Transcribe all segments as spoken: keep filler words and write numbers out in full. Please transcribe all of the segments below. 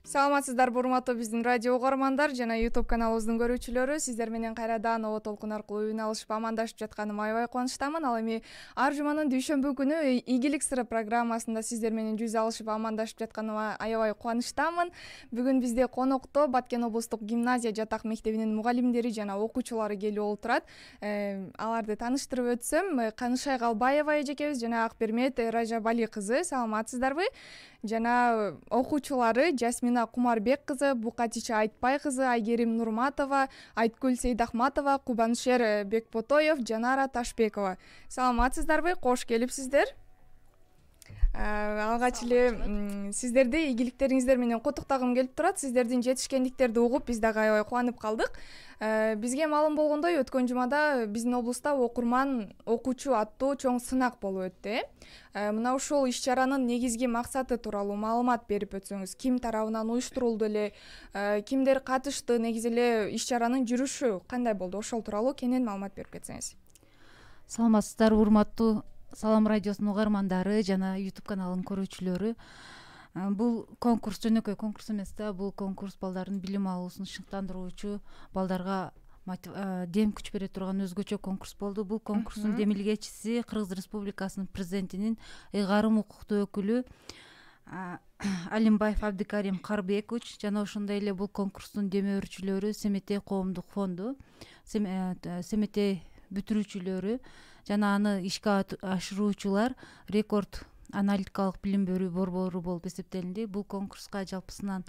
Саламатсыздарбы урматтуу биздин радио угармандар жана YouTube каналыбыздын көрүүчүлөрү. Сиздер менен кайрадан О толкун аркылуу үн алышып амандашып жатканыма аябай кубанычтамын. Ал эми ар жуманын дүйшөмбү күнү ийгилик сыры программасында сиздер менен жүз алышып амандашып жатканыма аябай кубанычтамын. Бүгүн бизде конокто Баткен облустук гимназия жатак мектебинин мугалимдери жана окуучулары келип отурат. Аларды тааныштырып өтсөм, Канышай Калбаева эжекебиз жана Акбермет Ражабали кызы. Саламатсыздарбы? Жана окуучулары Жасмина Кумарбек кызы, Букатича Айтпай кызы, Айгерим Нурматова, Айткүл Сейдахматова, Кубанышер Бекботоев, Жанара Ташбекова. Саламатсыздарбы? Кош келипсиздер. Алгач эле сиздерди ийгиликтериңиздер менен куттуктагым келип турат. Сиздердин жетишкендиктерди угуп биз дагы аябай кубанып калдык. Бизге маалым болгондой, өткөн жумада биздин облуста окурман окуучу аттуу чоң сынак болуп өттү. Мына ушул иш-чаранын негизги максаты тууралуу маалымат берип өтсөңүз, ким тарабынан уюштурулду эле, кимдер катышты, негизи эле иш-чаранын жүрүшү кандай болду, ошол тууралуу кенен маалымат берип кетсеңиз. Саламатсыздарбы урматтуу Салам радиосунун угармандары жана YouTube каналынын көрүүчүлөрү. Бул конкурс жөнөкөй конкурс эмес да, бул конкурс балдардын билим алуусун шыктандыруучу, балдарга дем күч бере турган өзгөчө конкурс болду. Бул конкурстун демилгечиси Кыргыз Республикасынын президентинин ыйгарым укуктуу өкүлү Алимбаев Абдикарим Карбекович жана ошондой эле бул конкурстун демөөрчүлөрү Семетей коомдук фонду, Семетей бүтүрүүчүлөрү жана аны ишке ашыруучулар Рекорд аналитикалык билим берүү борбору болуп эсептелинди. Бул конкурска жалпысынан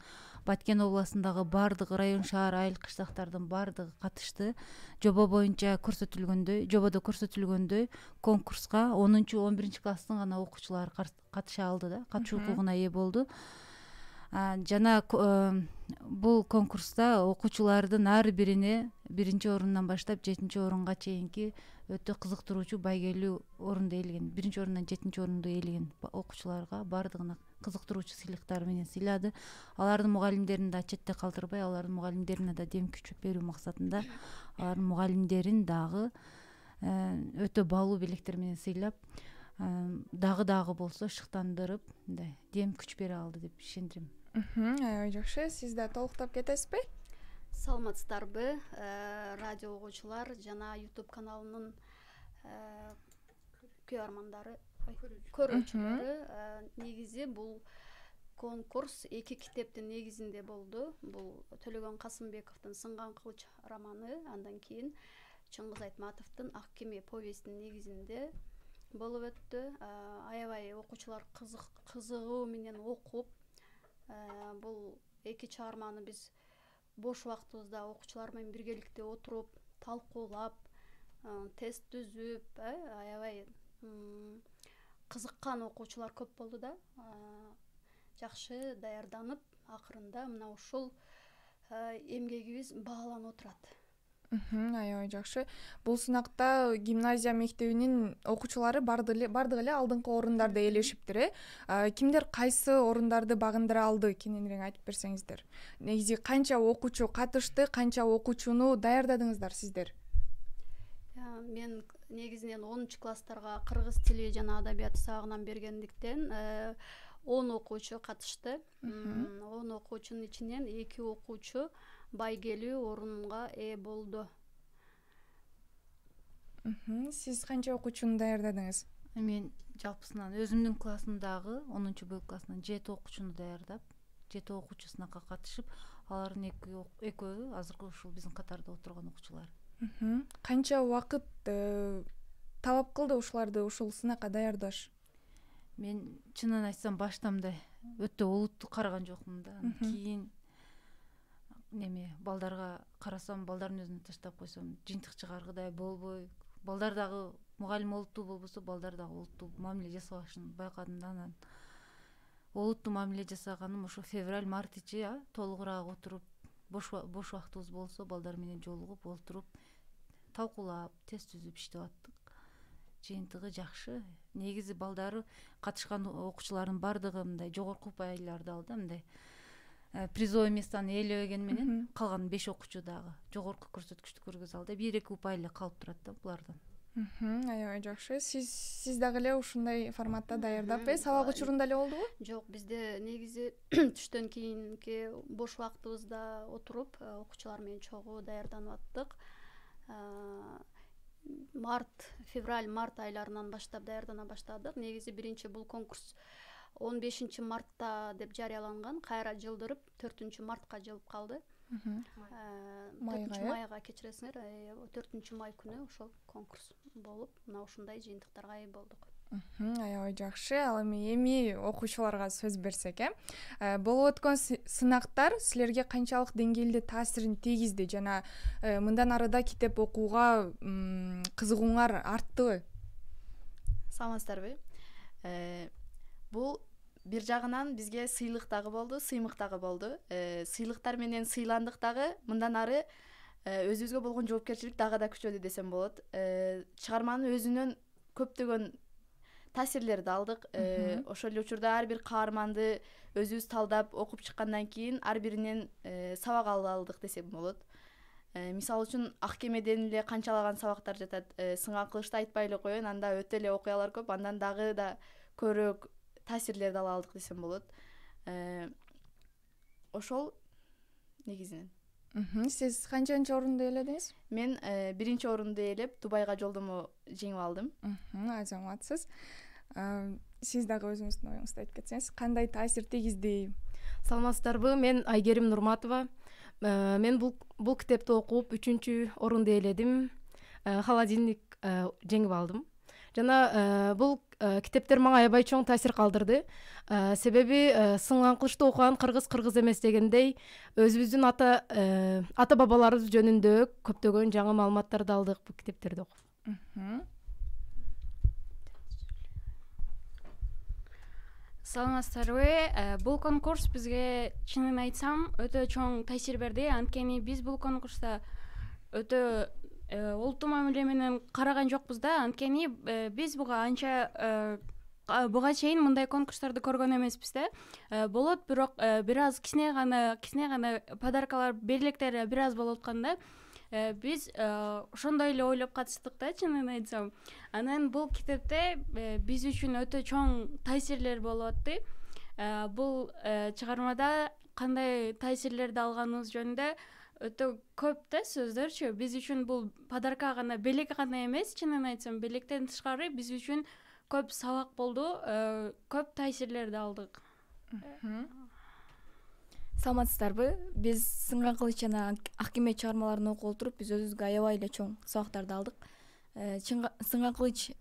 Баткен областындагы бардык район, шаар, айыл кыштактардын бардыгы катышты. Жобо боюнча көрсөтүлгөндөй, жободо көрсөтүлгөндөй конкурска онунчу он биринчи класстын гана окуучулары катыша алды да, катышуу укугуна ээ болду. Жана бул конкурста окуучулардын ар бирине биринчи орундан баштап жетинчи орунга чейинки өтө кызыктыруучу байгелүү орунду ээлеген, биринчи орундан жетинчи орунду ээлеген окуучуларга бардыгына кызыктыруучу сыйлыктар менен сыйлады. Алардын мугалимдерин да четте калтырбай, алардын мугалимдерине да дем күч берүү максатында алардын мугалимдерин дагы өтө баалуу белектер менен сыйлап, дагы дагы болсо шыктандырып, мындай дем күч бере алды деп ишендирем. Аябай жакшы. Сиз да толуктап кетесизби? Саламатсыздарбы, радио угуучулар жана YouTube каналынын көрөрмандары, көрүүчүлөрү. Негизи бул конкурс эки китептин негизинде болду. Бул Төлөгөн Касымбековдун Сынган кылыч романы, андан кийин Чыңгыз Айтматовдун Ак кеме повестинин негизинде болуп өттү. Аябай окуучулар кызыгуу менен окуп, бул эки чыгарманы биз бош убактыбызда окуучулар менен биргеликте отуруп, талкуулап, тест түзүп, аябай кызыккан окуучулар көп болду да. Жакшы даярданып, акырында мына ушул эмгегибиз бааланып отурат. Аябай жакшы. Бул сынакта гимназия мектебинин окуучулары бардыгы эле алдыңкы орундарда ээлешиптир, э? Кимдер кайсы орундарды багындыра алды, кененирээк айтып берсеңиздер. Негизи канча окуучу катышты, канча окуучуну даярдадыңыздар сиздер? Мен негизинен онунчу класстарга кыргыз тили жана адабияты сабагынан бергендиктен он окуучу катышты. он окуучунун ичинен эки окуучу байгелүү орунга ээ болду. Сиз канча окуучуну даярдадыңыз? Мен жалпысынан өзүмдүн классымдагы онунчу Б классынан жети окуучуну даярдап, жети окуучу сынакка катышып, алардын экөө азыркы ушул биздин катарда отурган окуучулар. Канча убакыт талап кылды ушуларды ушул сынакка даярдаш? Мен чынын айтсам башта мындай өтө олуттуу караган жокмун да. Кийин неме балдарга карасам, балдардын өзүнө таштап койсом, жыйынтык чыгаргыдай болбой, балдар дагы мугалим олуттуу болбосо, балдар дагы олуттуу мамиле жасабашын байкадым да. Анан олуттуу мамиле жасаганым ошо февраль-март ичи толугураак отуруп, бош бош убактыбыз болсо балдар менен жолугуп, отуруп, талкуулап, тест түзүп иштеп аттык. Жыйынтыгы жакшы. Негизи балдары катышкан окуучулардын бардыгы мындай жогорку упайларды алды, мындай призовый местаны ээлебеген менен калган беш окуучу дагы жогорку көрсөткүчтү көргөзө алды. бир эки упай эле калып турат да булардан. Аябай жакшы. Сиз сиз дагы эле ушундай форматта даярдап э сабак учурунда эле болдубу? Жок, бизде негизи түштөн кийинки бош убактыбызда отуруп окуучулар менен чогуу даярданып аттык. Март, февраль, март айларынан баштап даярдана баштадык. Негизи биринчи бул конкурс он бешинчи мартта деп жарыяланган, кайра жылдырып төртүнчү мартка жылып калды. төртүнчү майга кечиресиңер, төртүнчү май күнү ошол конкурс болуп, мына ушундай жыйынтыктарга ээ болдук. Аябай жакшы. Ал эми эми окуучуларга сөз берсек, э болуп өткөн сынактар силерге канчалык деңгээлде таасирин тийгизди жана мындан арыда китеп окууга кызыгууңар арттыбы? Саламатсыздарбы? Бул бир жагынан бизге сыйлык дагы болду, сыймык дагы болду. Сыйлыктар менен сыйландык дагы, мындан ары өзүбүзгө болгон жоопкерчилик дагы да күчөдү десем болот. Чыгарманын өзүнөн көптөгөн таасирлерди алдык. Ошол эле учурда ар бир каарманды өзүбүз талдап окуп чыккандан кийин ар биринен сабак ала алдык десем болот. Мисалы үчүн Аккемеден эле канчалаган сабактар жатат. Сынган кылычты айтпай эле коеюн, анда өтө эле окуялар көп, андан дагы да көрөөк таасирлерди ала алдык десем болот. Ошол негизинен. Сиз канчанчы орунду ээледиңиз? Мен биринчи орунду ээлеп, Дубайга жолдомо жеңип алдым. Азаматсыз. Сиз дагы өзүңүздүн оюңузду айтып кетсеңиз, кандай таасир тийгизди? Саламатсыздарбы? Мен Айгерим Нурматова. Мен бул бул китепти окуп үчүнчү орунду ээледим. Холодильник жеңип алдым. Жана бул китептер мага аябай чоң таасир калтырды. Себеби Сынган кылычты окуган кыргыз кыргыз эмес дегендей, өзүбүздүн ата ата бабаларыбыз жөнүндө көптөгөн жаңы маалыматтарды алдык бул китептерди окуп. Саламатсыздарбы? Бул конкурс бизге, чынын айтсам, өтө чоң таасир берди. Анткени биз бул конкурста өтө олуттуу мамиле менен караган жокпуз да. Анткени биз буга анча буга чейин мындай конкурстарды көргөн эмеспиз да. Болот, бирок бир аз кичине гана кичине гана подаркалар, белектер бир аз болуп аткан да. Биз ошондой эле ойлоп катыштык да, чынын айтсам. Анан бул китепте биз үчүн өтө чоң таасирлер болуп атты. Бул чыгармада кандай таасирлерди алганыбыз жөнүндө өтө көп да сөздөрчү. Биз үчүн бул подарка гана, белек гана эмес, чынын айтсам, белектен тышкары биз үчүн көп сабак болду, көп таасирлерди алдык. Саламатсыздарбы? Биз Сынган кылыч жана Аккеме чыгармаларын окуп отуруп, биз өзүбүзгө аябай эле чоң сабактарды алдык. Сынган кылыч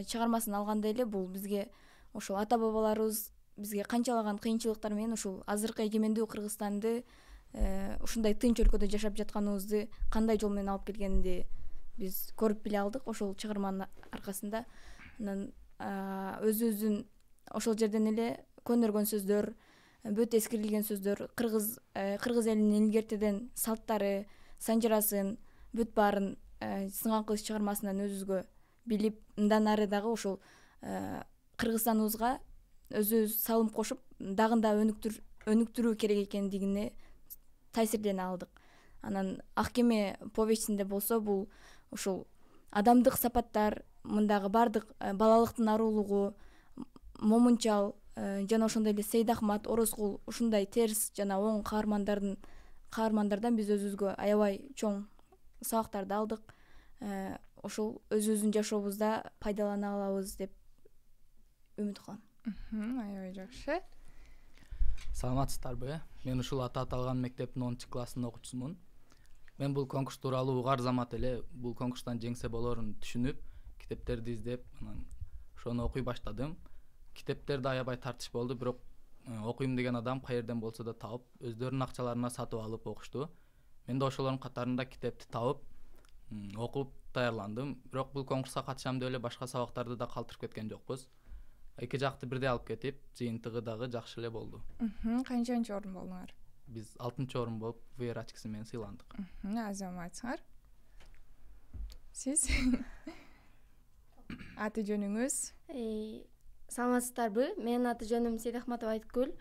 чыгармасын алганда эле бул бизге ошол ата бабаларыбыз бизге канчалаган кыйынчылыктар менен ушул азыркы эгемендүү Кыргызстанды, ушундай тынч өлкөдө жашап жатканыбызды кандай жол менен алып келгенди биз көрүп биле алдык ошол чыгарманын аркасында. Анан өзүбүздүн ошол жерден эле көнөргөн сөздөр, бүт эскирилген сөздөр, кыргыз кыргыз элинин илгертеден салттары, санжырасын, бүт баарын Сынган кылыч чыгармасынан өзүбүзгө билип, мындан ары дагы ошол Кыргызстаныбызга өзүбүз салым кошуп, дагы да өнүктүрүү керек экендигине таасирлене алдык. Анан Аккеме повестинде болсо, бул ушул адамдык сапаттар, мындагы бардык балалыктын арулугу, Момунчал жана ошондой эле Сейдахмат, Орозкул ушундай терс жана оң каармандардын каармандардан биз өзүбүзгө аябай чоң сабактарды алдык. Ошол өзүбүздүн жашообузда пайдалана алабыз деп үмүт кылам. Аябай жакшы. Саламатсыздарбы? Мен ушул аты аталган мектептин онунчу классынын окуучусумун. Мен бул конкурс тууралуу угар замат эле бул конкурстан жеңсе болорун түшүнүп, китептерди издеп, анан ошону окуй баштадым. Китептерде аябай тартыш болду, бирок окуйм деген адам кай жерден болсо да таап, өздөрүнүн акчаларына сатып алып окушту. Мен да ошолордун катарында китепти таап, окуп даярландым. Бирок бул конкурска катышам деп эле башка сабактарды да калтырып кеткен жокпуз. Эки жакты бирдей алып кетип, жыйынтыгы дагы жакшы эле болду. Канчанчы орун болдуңар? Биз алтынчы орун болуп, VR ачкысы менен сыйландык. Азаматсыңар. Сиз? Аты жөнүңүз? Саламатсыздарбы? Менин аты жөнүм Сейдахматова Айткүл.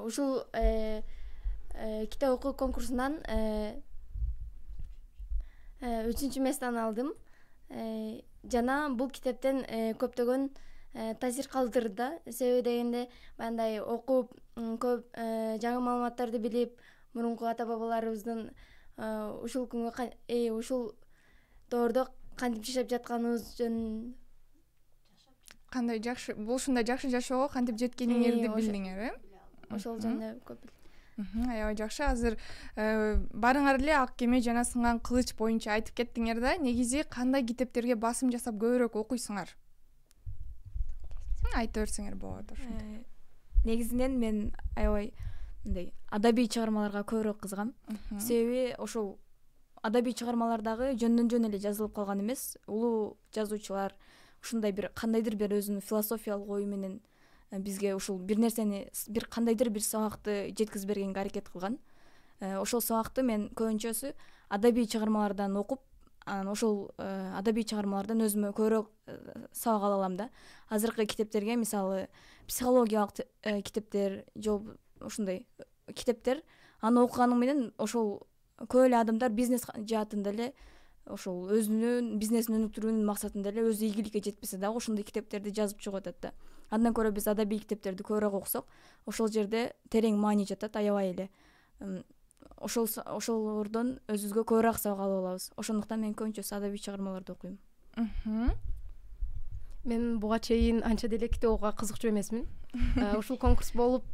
Ушул китеп окуу конкурсунан үчүнчү местаны алдым. жана бул китептен көптөгөн таасир калтырды да. Себеби дегенде мындай окуп көп жаңы маалыматтарды билип, мурунку ата бабаларыбыздын ушул күнгө ушул доордо кантип жашап жатканыбыз жөнүндө кандай жакшы бул ушундай жакшы жашоого кантип жеткениңерди билдиңер, э? Ошол жөнүндө көп. Аябай жакшы. Азыр барыңар эле Ак кеме жана Сынган кылыч боюнча айтып кеттиңер да. Негизи кандай китептерге басым жасап көбүрөөк окуйсуңар? Айта берсеңер болот ошондой. Негизинен мен аябай мындай адабий чыгармаларга көбүрөөк кызыгам. Себеби ошол адабий чыгармалардагы жөндөн жөн эле жазылып калган эмес, улуу жазуучулар ушундай бир кандайдыр бир өзүнүн философиялык ою менен бизге ушул бир нерсени, бир кандайдыр бир сабакты жеткизип бергенге аракет кылган. Ошол сабакты мен көбүнчөсү адабий чыгармалардан окуп, анан ошол адабий чыгармалардан өзүмө көбүрөөк сабак ала алам да. Азыркы китептерге, мисалы, психологиялык китептер, же ушундай китептер, аны окуганым менен ошол көп эле адамдар бизнес жаатында эле ошол өзүнүн бизнесин өнүктүрүүнүн максатында эле өзү ийгиликке жетпесе дагы ошондой китептерди жазып чыгып атат да. Андан көрө биз адабий китептерди көбүрөөк окусок, ошол жерде терең маани жатат, аябай эле. Ошол ошолордон өзүбүзгө көбүрөөк сабак ала алабыз. Ошондуктан мен көбүнчөсү адабий чыгармаларды окуйм. Мен буга чейин анча деле китеп окууга кызыкчу эмесмин. Ушул конкурс болуп,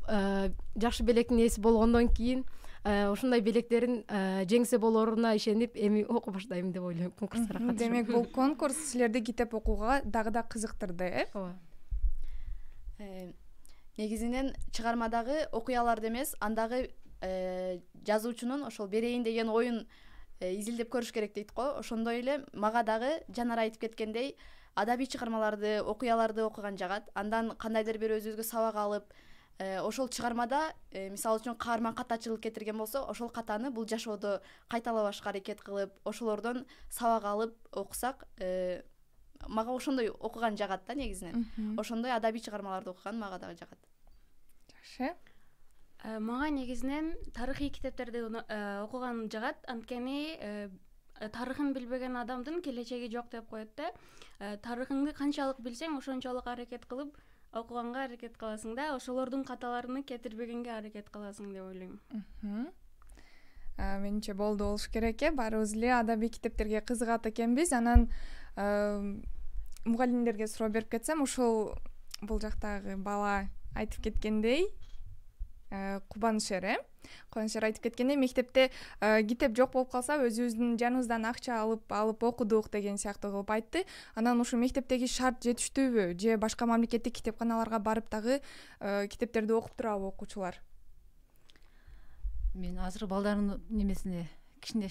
жакшы белектин ээси болгондон кийин ушундай белектерин жеңсе болоруна ишенип, эми окуй баштайм деп ойлойм конкурстарга катышып. Демек, бул конкурс силерди китеп окууга дагы да кызыктырды, э? Ооба. Негизинен чыгармадагы окуяларды эмес, андагы жазуучунун ошол берейин деген оюн изилдеп көрүш керек дейт го. Ошондой эле мага дагы Жанар айтып кеткендей, адабий чыгармаларды, окуяларды окуган жагат. Андан кандайдыр бир өзүбүзгө сабак алып, ошол чыгармада мисалы үчүн каарман катачылык кетирген болсо, ошол катаны бул жашоодо кайталабашка аракет кылып, ошолордон сабак алып окусак, мага ошондой окуган жагат да негизинен. Ошондой адабий чыгармаларды окуган мага дагы жагат. Жакшы. Мага негизинен тарыхый китептерди окуган жагат, анткени тарыхын билбеген адамдын келечеги жок деп коет да. Тарыхыңды канчалык билсең, ошончолук аракет кылып окуганга аракет кыласың да, ошолордун каталарын кетирбегенге аракет кыласың деп ойлойм. Менимче болду болуш керек э. Баарыбыз эле адабий китептерге кызыгат экенбиз. Анан мугалимдерге суроо берип кетсем, ушул бул жактагы бала айтып кеткендей, Кубанышер, э? Кубанышер айтып кеткендей, мектепте китеп жок болуп калса, өзүбүздүн жаныбыздан акча алып алып окудук деген сыяктуу кылып айтты. Анан ушу мектептеги шарт жетиштүүбү, же башка мамлекеттик китепканаларга барып дагы китептерди окуп турабы окуучулар? Мен азыр балдардын немесине кичине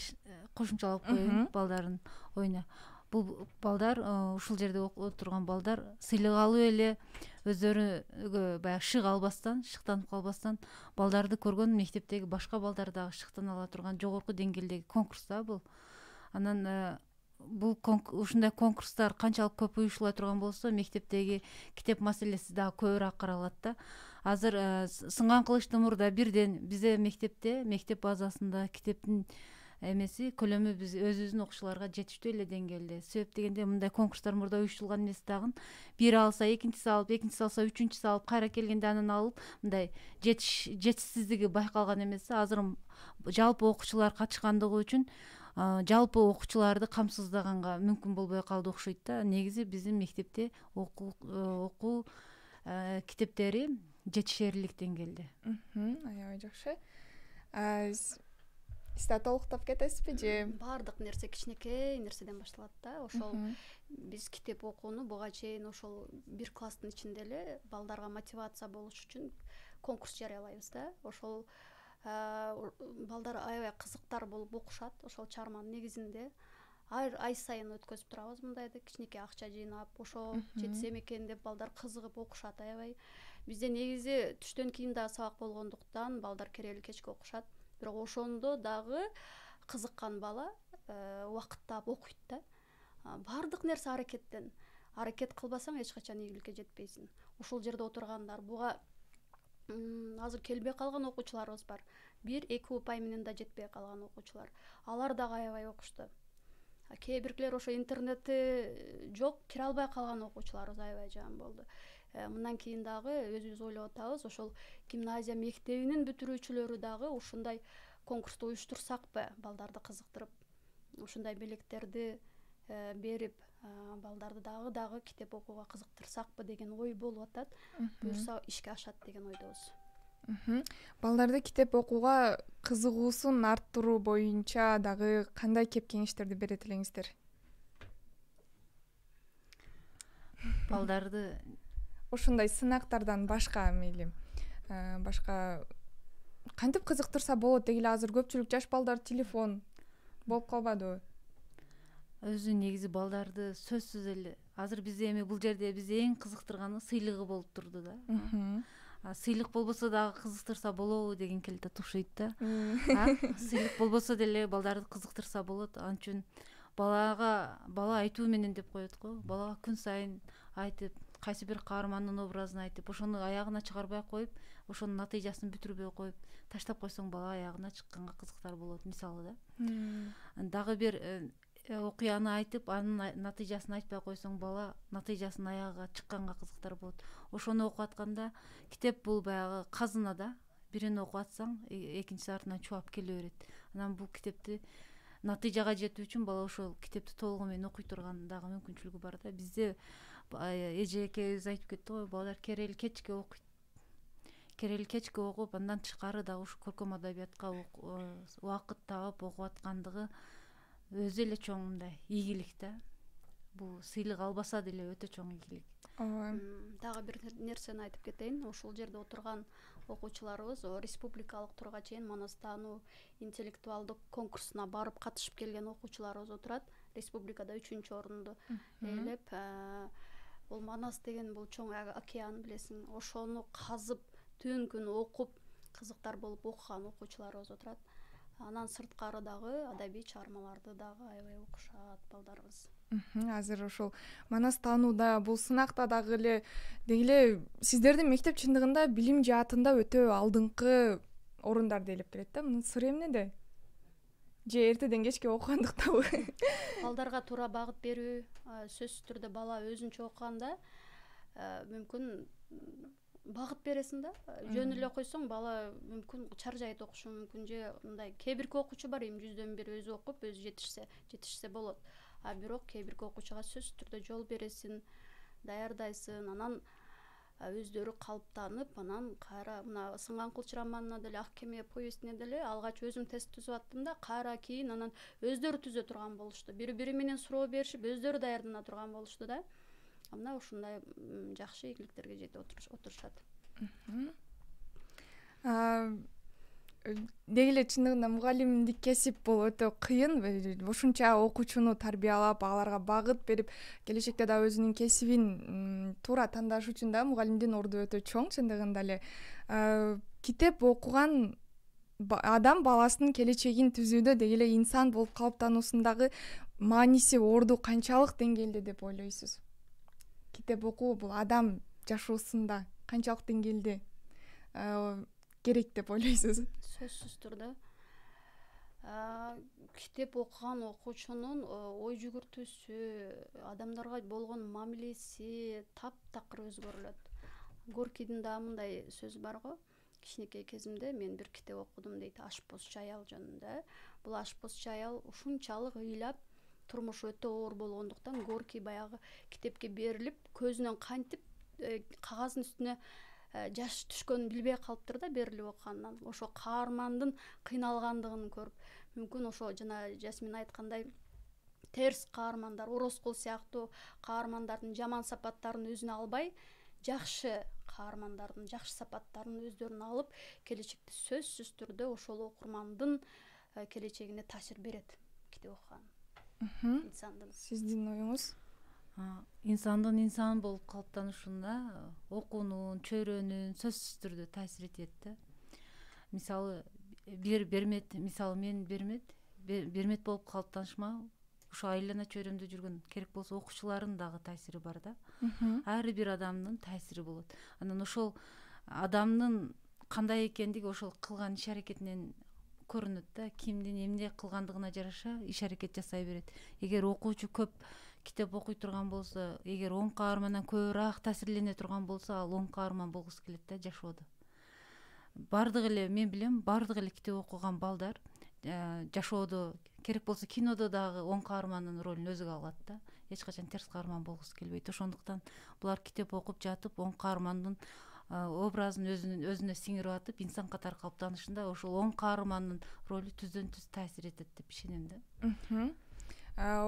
кошумчалап коеюн, балдардын оюна. Бул балдар, ушул жерде окуп турган балдар сыйлык алып эле өздөрүгө баягы шык албастан, шыктанып калбастан, балдарды көргөн мектептеги башка балдар дагы шыктана ала турган жогорку деңгээлдеги конкурс да бул. Анан бул ушундай конкурстар канчалык көп уюштула турган болсо, мектептеги китеп маселеси дагы көбүрөөк каралат да. Азыр Сынган кылычтын мурда бирден бизде мектепте, мектеп базасында китептин эмеси көлөмү биз өзүбүздүн окуучуларга жетиштүү эле деңгээлде. Себеп дегенде мындай конкурстар мурда уюштурулган эмес дагы. Бир алса, экинчиси алып, экинчиси алса, үчүнчүсү алып, кайра келгенде анан алып, мындай жетишсиздиги байкалган эмес. Азыр жалпы окуучулар катышкандыгы үчүн жалпы окуучуларды камсыздаганга мүмкүн болбой калды окшойт да. Негизи биздин мектепте окуу китептери жетишерлик деңгээлде. Аябай жакшы. Сиз да толуктап кетесизби же? Баардык нерсе кичинекей нерседен башталат да. Ошол биз китеп окууну буга чейин ошол бир класстын ичинде эле балдарга мотивация болуш үчүн конкурс жарыялайбыз да. Ошол балдар аябай кызыктар болуп окушат. Ошол чыгарманын негизинде ай сайын өткөзүп турабыз мындайды, кичинекей акча жыйнап, ошо жетсем экен деп балдар кызыгып окушат аябай. Бизде негизи түштөн кийин дагы сабак болгондуктан балдар керели кечке окушат. Бирок ошондо дагы кызыккан бала убакыт таап окуйт да. Баардык нерсе аракеттен. Аракет кылбасаң эч качан ийгиликке жетпейсиң. Ошол жерде отургандар буга азыр келбей калган окуучуларыбыз бар. Бир эки упай менен да жетпей калган окуучулар. Алар дагы аябай окушту. кээ биркилер ошо интернети жок кире албай калган окуучуларыбыз аябай жаман болду. Мындан кийин дагы өзүбүз ойлоп атабыз, ошол гимназия мектебинин бүтүрүүчүлөрү дагы ушундай конкурсту уюштурсакпы, балдарды кызыктырып, ушундай белектерди берип, балдарды дагы дагы китеп окууга кызыктырсакпы деген ой болуп атат. Буюрса ишке ашат деген ойдобуз. Балдарды китеп окууга кызыгуусун арттыруу боюнча дагы кандай кеп кеңештерди берет элеңиздер? Балдарды ушундай сынактардан башка мейли башка кантип кызыктырса болот деги эле азыр көпчүлүк жаш балдар телефон болуп калбадыбы? Өзү негизи балдарды сөзсүз эле азыр бизде эми бул жерде бизди эң кызыктырганы сыйлыгы болуп турду да. Сыйлык болбосо дагы кызыктырса болобу деген келе татушойт да. Сыйлык болбосо деле балдарды кызыктырса болот. Ал үчүн балага бала айтуу менен деп коет го. Балага күн сайын айтып, кайсы бир каармандын образын айтып, ошону аягына чыгарбай коюп, ошонун натыйжасын бүтүрбөй коюп, таштап койсоң бала аягына чыкканга кызыктар болот, мисалы да. Дагы бир окуяны айтып, анын натыйжасын айтпай койсоң бала натыйжасын аягына чыкканга кызыктар болот. Ошону окуп атканда китеп бул баягы казына да. Бирин окуп атсаң, экинчиси артынан чубап келе берет. Анан бул китепти натыйжага жетүү үчүн бала ошол китепти толугу менен окуй турган дагы мүмкүнчүлүгү бар да. Бизде эже экебиз айтып кетти го, балдар керели кечке окуйт. Керели кечке окуп, андан тышкары дагы ушу көркөм адабиятка убакыт таап окуп аткандыгы өзү эле чоң мындай ийгилик да. Бул сыйлык албаса деле өтө чоң ийгилик. Дагы бир нерсени айтып кетейин. Ошол жерде отурган окуучуларыбыз республикалык турга чейин манас таануу интеллектуалдык конкурсуна барып катышып келген окуучуларыбыз отурат. Республикада үчүнчү орунду ээлеп, бул манас деген бул чоң океан билесиң. Ошону казып, түн күн окуп, кызыктар болуп окуган окуучуларыбыз отурат. Анан сырткары дагы адабий чыгармаларды дагы аябай окушат балдарыбыз. Азыр ошол манас таанууда бул сынакта дагы эле деги эле сиздердин мектеп чындыгында билим жаатында өтө алдыңкы орундарда ээлеп келет да. Мунун сыры эмнеде? Же эртеден кечке окугандыктабы? Балдарга туура багыт берүү, сөзсүз түрдө бала өзүнчө окуганда мүмкүн багыт бересиң да. Жөн эле койсоң бала мүмкүн чаржайт окушу мүмкүн, же мындай кээ бирки окуучу бар, эми жүздөн бир өзү окуп, өзү жетишсе, жетишсе болот. А бирок кээ бирки окуучуга сөзсүз түрдө жол бересиң, даярдайсың, анан өздөрү калыптанып, анан кайра мына Сынган кылыч романына деле, Ак кеме повестине деле алгач өзүм тест түзүп аттым да, кайра кийин анан өздөрү түзө турган болушту. Бири-бири менен суроо беришип, өздөрү даярдана турган болушту да. Мына ушундай жакшы ийгиликтерге жетип отурушат. Деги эле чындыгында мугалимдик кесип бул өтө кыйын. Ушунча окуучуну тарбиялап, аларга багыт берип, келечекте да өзүнүн кесибин туура тандаш үчүн да мугалимдин орду өтө чоң чындыгында эле. Китеп окуган адам баласынын келечегин түзүүдө деги эле инсан болуп калыптануусундагы мааниси, орду канчалык деңгээлде деп ойлойсуз? Китеп окуу бул адам жашоосунда канчалык деңгээлде керек деп ойлойсуз? Сөзсүз түрдө китеп окуган окуучунун ой жүгүртүүсү, адамдарга болгон мамилеси таптакыр өзгөрүлөт. Горкийдин да мындай сөзү бар го. Кичинекей кезимде мен бир китеп окудум дейт, Ашпозчу аял жөнүндө. Бул Ашпозчу аял ушунчалык ыйлап, турмушу өтө оор болгондуктан Горкий баягы китепке берилип, көзүнөн кантип кагаздын үстүнө жаш түшкөнүн билбей калыптыр да берилип окугандан. Ошо каармандын кыйналгандыгын көрүп, мүмкүн ошо жана Жасмин айткандай терс каармандар, Ороскул сыяктуу каармандардын жаман сапаттарын өзүнө албай, жакшы каармандардын жакшы сапаттарын өздөрүнө алып, келечекте сөзсүз түрдө ошол окурмандын келечегине таасир берет китеп окуган. Инсандын. Сиздин оюңуз? Инсандын инсан болуп калыптанышында окуунун, чөйрөнүн сөзсүз түрдө таасир этет да. Мисалы бир Бермет, мисалы мен Бермет, Бермет болуп калыптанышыма ошо айлана чөйрөмдө жүргөн керек болсо окуучулардын дагы таасири бар да. Ар бир адамдын таасири болот. Анан ошол адамдын кандай экендиги ошол кылган иш аракетинен көрүнөт да, кимдин эмне кылгандыгына жараша иш аракет жасай берет. Эгер окуучу көп китеп окуй турган болсо, эгер оң каармандан көбүрөөк таасирлене турган болсо, ал оң каарман болгусу келет да жашоодо. Бардык эле мен билем, бардык эле китеп окуган балдар жашоодо, керек болсо кинодо дагы оң каармандын ролун өзүгө алат да. Эч качан терс каарман болгусу келбейт. Ошондуктан булар китеп окуп жатып, оң каармандын образын өзүнүн өзүнө сиңирип атып, инсан катары калыптанышында ошол оң каармандын ролу түздөн түз таасир этет деп ишенем да.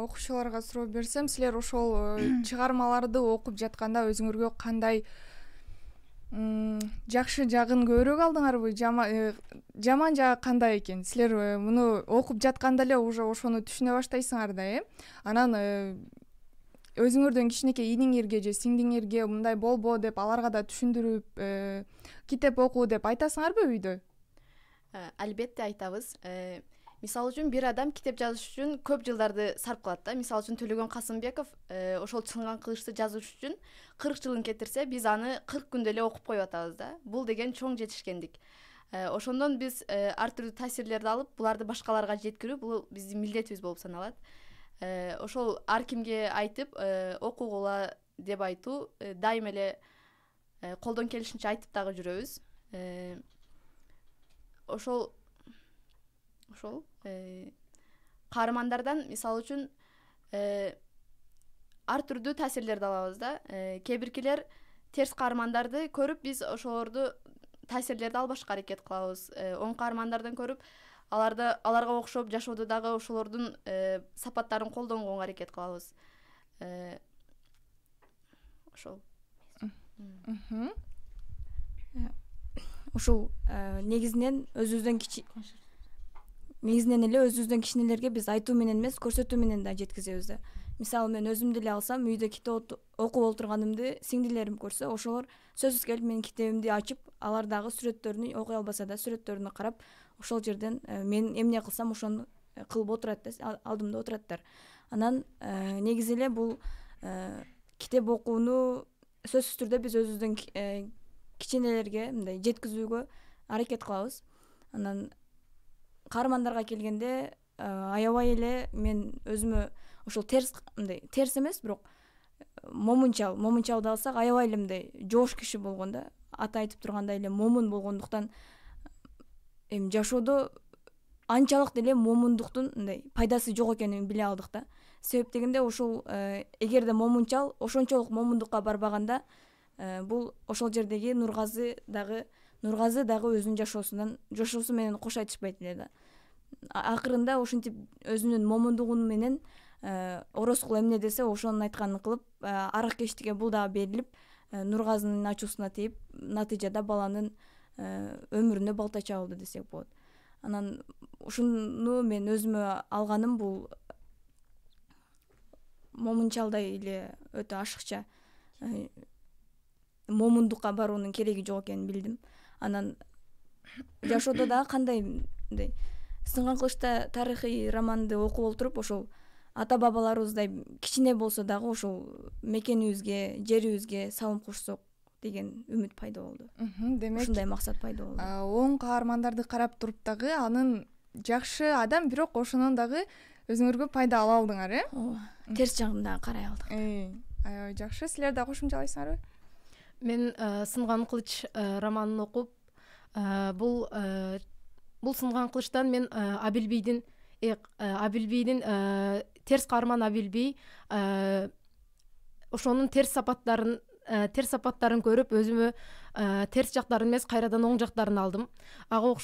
Окуучуларга суроо берсем, силер ошол чыгармаларды окуп жатканда өзүңөргө кандай жакшы жагын көбүрөөк алдыңарбы, жаман жагы кандай экен? Силер муну окуп жатканда эле уже ошону түшүнө баштайсыңар да, э? Анан өзүңөрдөн кичинекей иниңерге же сиңдиңерге мындай болбо деп аларга да түшүндүрүп, китеп окуу деп айтасыңарбы үйдө? Албетте айтабыз. Мисалы үчүн бир адам китеп жазыш үчүн көп жылдарды сарп кылат да. Мисалы үчүн Төлөгөн Касымбеков ошол Чыңган кылычты жазыш үчүн кырк жылын кетирсе, биз аны кырк күндө эле окуп коюп атабыз да. Бул деген чоң жетишкендик. Ошондон биз ар түрдүү таасирлерди алып, буларды башкаларга жеткирүү бул биздин милдетибиз болуп саналат. Ошол ар кимге айтып, окугула деп айтуу дайым эле колдон келишинче айтып дагы жүрөбүз. Ошол ошол каармандардан мисалы үчүн ар түрдүү таасирлерди алабыз да. Кээ биркилер терс каармандарды көрүп, биз ошолорду таасирлерди албашка аракет кылабыз. Оң каармандардан көрүп, аларды аларга окшоп жашоодо дагы ошолордун сапаттарын колдонгонго аракет кылабыз. Ошол. Ушул негизинен өзүбүздөн кичи негизинен эле өзүбүздөн кичинелерге биз айтуу менен эмес, көрсөтүү менен да жеткизебиз да. Мисалы мен өзүмдү эле алсам, үйдө китеп окуп отурганымды сиңдилерим көрсө, ошолор сөзсүз келип менин китебимди ачып, алар дагы сүрөттөрүнү окуй албаса да сүрөттөрүнү карап, ошол жерден мен эмне кылсам ошону кылып отурат да, алдымда отураттар. Анан негизи эле бул китеп окууну сөзсүз түрдө биз өзүбүздүн кичинелерге мындай жеткизүүгө аракет кылабыз. Анан каармандарга келгенде аябай эле мен өзүмө ошол терс мындай терс эмес, бирок момунчал, момунчалды алсак аябай эле мындай жоош киши болгон да. Аты айтып тургандай эле момун болгондуктан эми жашоодо анчалык деле момундуктун мындай пайдасы жок экенин биле алдык да. Себеп дегенде ошол эгерде момунчал ошончолук момундукка барбаганда, бул ошол жердеги Нургазы дагы Нургазы дагы өзүнүн жашоосунан жашоосу менен кош айтышпайт эле да. Акырында ошентип өзүнүн момундугу менен Орозкул эмне десе ошонун айтканын кылып, аракештикке бул дагы берилип, Нургазынын ачуусуна тийип, натыйжада баланын өмүрүнө балта чабылды десек болот. Анан ушуну мен өзүмө алганым бул момунчалдай эле өтө ашыкча момундукка баруунун кереги жок экенин билдим. Анан жашоодо дагы кандай мындай Сынган кылычта тарыхый романды окуп олтуруп, ошол ата бабаларыбыздай кичине болсо дагы ошол мекенибизге, жерибизге салым кошсок деген үмүт пайда болду. Демек, ушундай максат пайда болду. Оң каармандарды карап туруп дагы анын жакшы адам, бирок ошонун дагы өзүңөргө пайда ала алдыңар, э? Ооба. Терс жагын дагы карай алдык. Аябай жакшы. Силер да кошумчалайсыңарбы? Мен Сынган кылыч романын окуп, бул бул Сынган кылычтан мен Абилбийдин Абилбийдин терс каарман Абилбий ошонун терс сапаттарын терс сапаттарын көрүп, өзүмө терс жактарын эмес, кайрадан оң жактарын алдым. Ага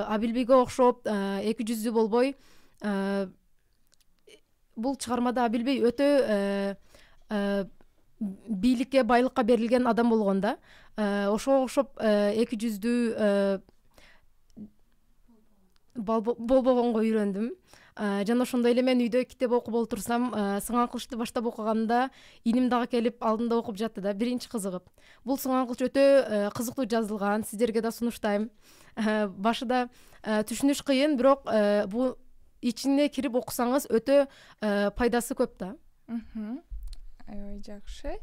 Абилбийге окшоп эки жүздүү болбой, бул чыгармада Абилбей өтө бийликке, байлыкка берилген адам болгон да. Ошого окшоп эки жүздүү болбогонго үйрөндүм. Жана ошондой эле мен үйдө китеп окуп олтурсам, Сынган кылычты баштап окуганда иним дагы келип алдымда окуп жатты да, биринчи кызыгып. Бул Сынган кылыч өтө кызыктуу жазылган, сиздерге да сунуштайм. Башында түшүнүш кыйын, бирок бул ичине кирип окусаңыз өтө пайдасы көп да. Аябай жакшы.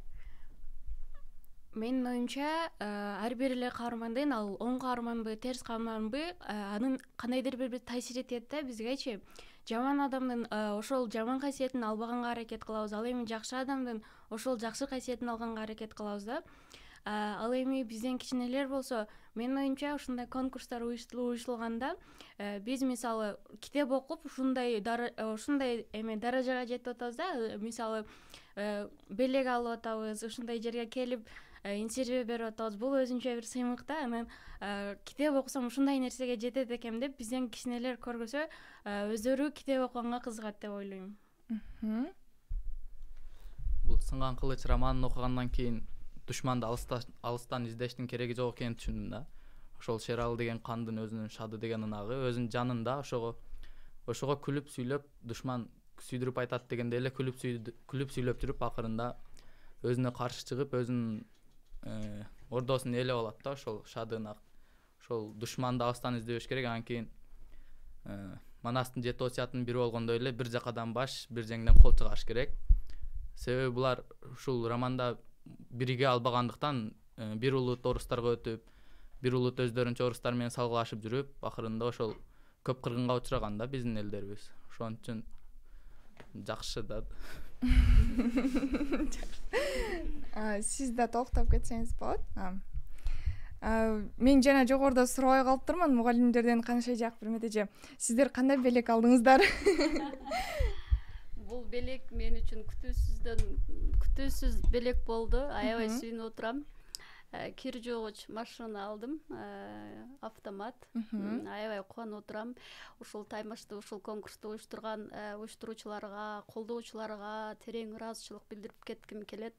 менин оюмча ар бир эле каармандын ал оң каарманбы терс каарманбы анын кандайдыр бир таасир этет да бизгечи. Жаман адамдын ошол жаман касиетин албаганга аракет кылабыз, ал эми жакшы адамдын ошол жакшы касиетин алганга аракет кылабыз да. Ал эми бизден кичинелер болсо, менин оюмча ушундай конкурстар уюштурулганда биз мисалы китеп окуп ушундай ушундай эме даражага жетип атабыз да, мисалы белек алып атабыз, ушундай жерге келип интервью берип атабыз. Бул өзүнчө бир сыймык да. Анан китеп окусам ушундай нерсеге жетет экем деп бизден кичинелер көргөсө өздөрү китеп окуганга кызыгат деп ойлойм. Бул Сынган кылыч романын окугандан кийин душманды алыстан издештин кереги жок экенин түшүндүм да. Ошол Шералы деген кандын өзүнүн Шады деген ынагы өзүнүн жанында ошого ошого күлүп сүйлөп душман сүйдүрүп айтат дегенде эле күлүп күлүп сүйлөп жүрүп акырында өзүнө каршы чыгып өзүнүн ордосун ээлеп алат да ошол Шады ынак. Ошол душманды алыстан издебеш керек. Анан кийин Манастын жети осуятынын бири болгондой эле бир жакадан баш, бир жеңден кол чыгарыш керек. Себеби булар ушул романда бирге албагандыктан бир улут орустарга өтүп, бир улут өздөрүнчө орустар менен салгылашып жүрүп, акырында ошол көп кыргынга учураган да биздин элдерибиз. Ошон үчүн жакшы да. Сиз да токтоп кетсеңиз болот. Мен жана жогоруда сурабай калыптырмын мугалимдерден канча жак бир эже. Сиздер кандай белек алдыңыздар? Бул белек мен үчүн күтүүсүздөн күтүүсүз белек болду. Аябай сүйүнүп отурам. Кир жуугуч машина алдым, автомат. Аябай кубанып отурам. Ушул таймашты, ушул конкурсту уюштурган уюштуруучуларга, колдоочуларга терең ыраазычылык билдирип кетким келет.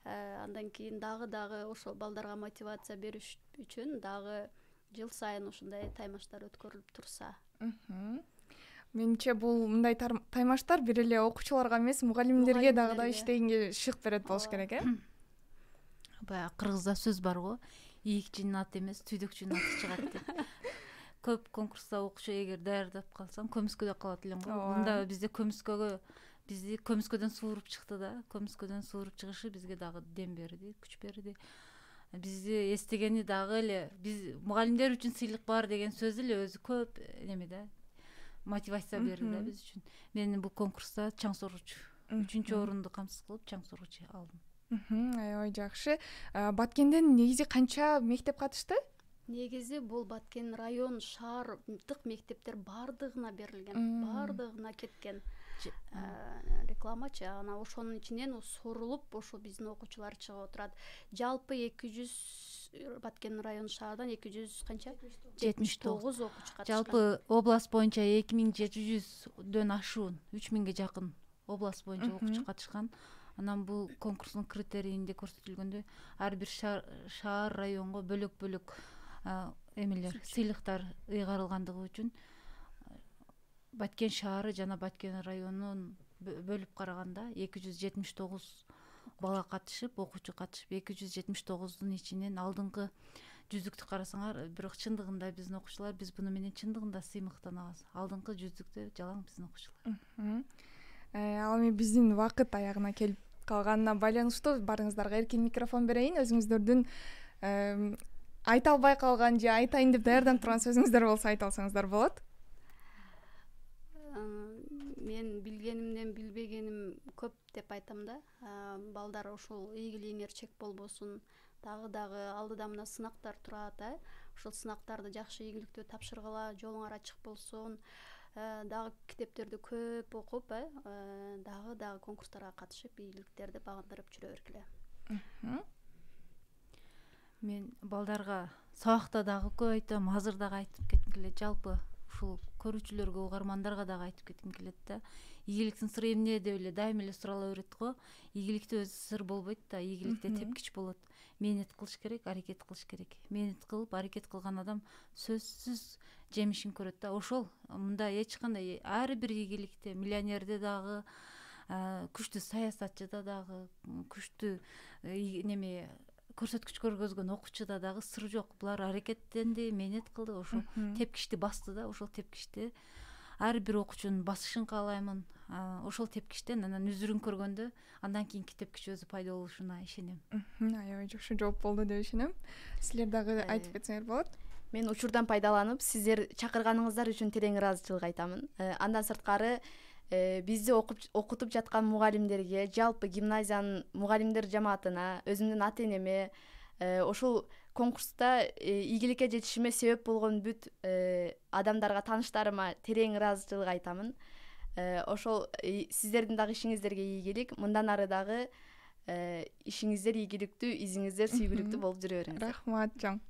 Андан кийин дагы дагы ошол балдарга мотивация бериш үчүн дагы жыл сайын ушундай таймаштар өткөрүлүп турса. Менимче бул мындай таймаштар бир эле окуучуларга эмес, мугалимдерге дагы да иштегенге шык берет болуш керек, э? Баягы кыргызда сөз бар го, ийикчинин аты эмес, түйдөкчүнүн аты чыгат деп. Көп конкурста окуучу эгер даярдап калсаң, көмүскөдө калат элең го. Мында бизде көмүскөгө бизди көмүскөдөн сууруп чыкты да, көмүскөдөн сууруп чыгышы бизге дагы дем берди, күч берди. Бизди эстегени дагы эле биз мугалимдер үчүн сыйлык бар деген сөз эле өзү көп неме да, мотивация берди да биз үчүн. Мен бул конкурста чаң соргучу, үчүнчү орунду камсыз кылып чаң соргучу алдым. Аябай жакшы. Баткенден негизи канча мектеп катышты? Негизи бул Баткен район шаардык мектептер бардыгына берилген, бардыгына кеткен. Рекламачы, ана ошонун ичинен сорулуп ошо биздин окуучулар чыгып отурат. Жалпы эки жүз Баткен район шаардан эки жүз канча? жетимиш тогуз окуучу катышкан. Жалпы область боюнча эки миң жети жүздөн ашуун, үч миңге жакын область боюнча окуучу катышкан. Анан бул конкурстун критерийинде көрсөтүлгөндөй ар бир шаар, районго бөлөк-бөлөк эмелер, сыйлыктар ыйгарылгандыгы үчүн Баткен шаары жана Баткен районун бөлүп караганда эки жүз жетимиш тогуз бала катышып, окуучу катышып, эки жүз жетимиш тогуздун ичинен алдыңкы жүздүктү карасаңар, бирок чындыгында биздин окуучулар биз буну менен чындыгында сыймыктанабыз. Алдыңкы жүздүктө жалаң биздин окуучулар. Ал эми биздин убакыт аягына келип калганына байланыштуу барыңыздарга эркин микрофон берейин. Өзүңүздөрдүн айта албай калган же айтайын деп даярданып турган сөзүңүздөр болсо айта алсаңыздар болот. Мен билгенимден билбегеним көп деп айтам да. Балдар ошол ийгилигиңер чек болбосун. Дагы дагы алдыда мына сынактар турат, э? Ошол сынактарды жакшы ийгиликтүү тапшыргыла, жолуңар ачык болсун. Дагы китептерди көп окуп, э? Дагы дагы конкурстарга катышып, ийгиликтерди багындырып жүрө бергиле. Мен балдарга сабакта дагы көп айтам, азыр дагы айтып кетким келет. Жалпы ушул көрүүчүлөргө, угармандарга дагы айтып кетким келет да. Ийгиликтин сыры эмне деп эле дайыма эле сурала берет го. Ийгиликте өзү сыр болбойт да, ийгиликте тепкич болот. Мээнет кылыш керек, аракет кылыш керек. Мээнет кылып, аракет кылган адам сөзсүз жемишин көрөт да. Ошол мында эч кандай ар бир ийгиликте, миллионерде дагы, күчтүү саясатчыда дагы, күчтүү неме көрсөткүч көргөзгөн окуучуда дагы сыр жок. Булар аракеттенди, мээнет кылды, ошо тепкичти басты да. Ошол тепкичти ар бир окуучунун басышын каалаймын. ошол тепкичтен анан үзүрүн көргөндө андан кийин тепкич өзү пайда болушуна ишенем. Аябай жакшы жооп болду деп ишенем. Силер дагы айтып кетсеңер болот. Мен учурдан пайдаланып сиздер чакырганыңыздар үчүн терең ыраазычылык айтамын. Андан сырткары бизди окутуп жаткан мугалимдерге, жалпы гимназиянын мугалимдер жамаатына, өзүмдүн ата энеме, ошол конкурста ийгиликке жетишиме себеп болгон бүт адамдарга, тааныштарыма терең ыраазычылык айтамын. Ошол сиздердин дагы ишиңиздерге ийгилик, мындан ары дагы ишиңиздер ийгиликтүү, изиңиздер сүйгүлүктүү болуп жүрө бериңиздер. Рахмат чоң.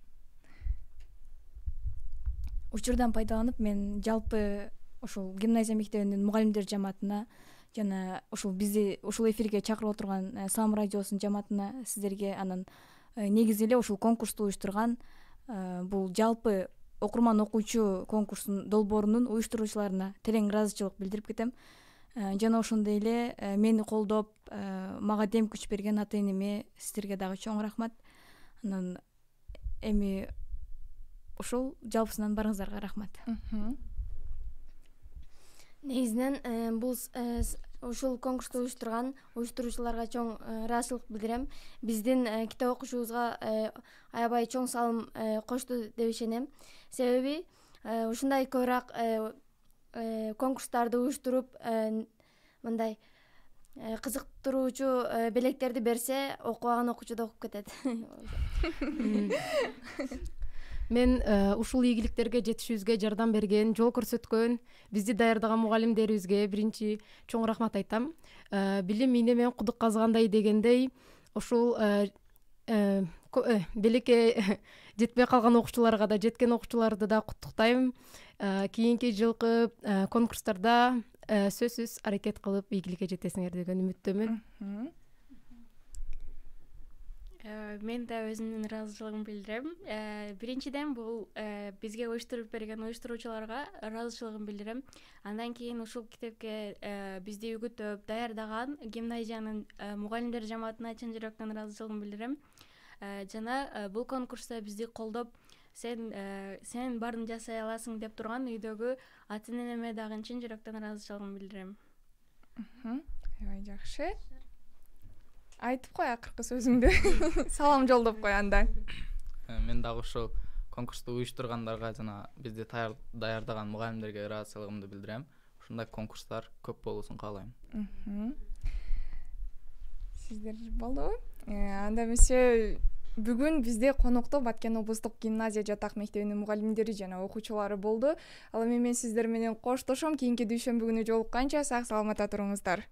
Учурдан пайдаланып мен жалпы ошол гимназия мектебинин мугалимдер жамаатына жана ошол бизди ушул эфирге чакырып отурган Салам радиосунун жамаатына, сиздерге, анан негизи эле ушул конкурсту уюштурган бул жалпы окурман окуучу конкурсунун долбоорунун уюштуруучуларына терең ыраазычылык билдирип кетем. Жана ошондой эле мени колдоп, мага дем күч берген ата энеме, сиздерге дагы чоң рахмат. Анан эми ошол жалпысынан барыңыздарга рахмат. Негизинен бул ушул конкурсту уюштурган уюштуруучуларга чоң ыраазычылык билдирем. Биздин китеп окушубузга аябай чоң салым кошту деп ишенем. Себеби ушундай көбүрөөк конкурстарды уюштуруп, мындай кызыктыруучу белектерди берсе, окубаган окуучу да окуп кетет. Мен ушул ийгиликтерге жетишибизге жардам берген, жол көрсөткөн бизди даярдаган мугалимдерибизге биринчи чоң рахмат айтам. Билим ийне менен кудук казгандай дегендей, ушул белекке жетпей калган окуучуларга да, жеткен окуучуларды да куттуктайм. Кийинки жылкы конкурстарда сөзсүз аракет кылып ийгиликке жетесиңер деген үмүттөмүн. Мен да өзүмдүн ыраазычылыгымды билдирем. Биринчиден бул бизге уюштуруп берген уюштуруучуларга ыраазычылыгымды билдирем. Андан кийин ушул китепке бизди үгүттөп даярдаган гимназиянын мугалимдер жамаатына чын жүрөктөн ыраазычылыгымды билдирем. Жана бул конкурста бизди колдоп, сен сен баарын жасай аласың деп турган үйдөгү ата энеме дагы чын жүрөктөн ыраазычылыгымды билдирем. Аябай жакшы. Айтып кой акыркы сөзүңдү. Салам жолдоп кой анда. Мен дагы ушул конкурсту уюштургандарга жана бизди даярдаган мугалимдерге ыраазычылыгымды билдирем. Ушундай конкурстар көп болуусун каалайм. Сиздер болдубу? Анда эмесе бүгүн бизде конокто Баткен облустук гимназия жатак мектебинин мугалимдери жана окуучулары болду. Ал эми мен сиздер менен коштошом. Кийинки дүйшөмбү күнү жолукканча сак саламатта туруңуздар.